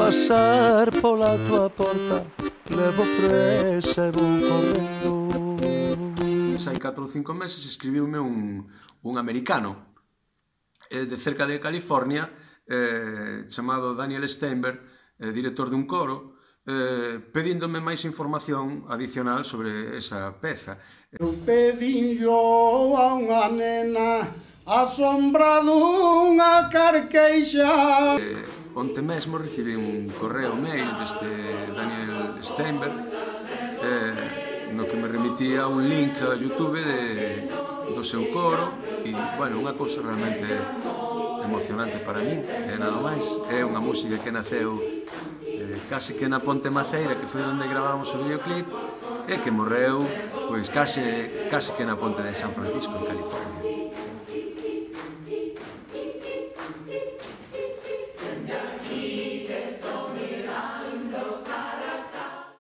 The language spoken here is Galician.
pasar pola tua porta, levo presa e vou correndo. Hai 4 ou 5 meses escribiume un americano de cerca de California chamado Daniel Steinberg, director dun coro, pedíndome máis información adicional sobre esa peza. Eu pedinllo a unha nena a sombra dunha carqueixa. Onte mesmo recibi un correo mail deste Daniel Steinberg no que me remitía un link a YouTube do seu coro e, bueno, unha cousa realmente emocionante para min, e nada máis. É unha música que naceu case que na Ponte Maceira, que foi onde gravamos o videoclip, e que morreu pois case que na Ponte de San Francisco, en California.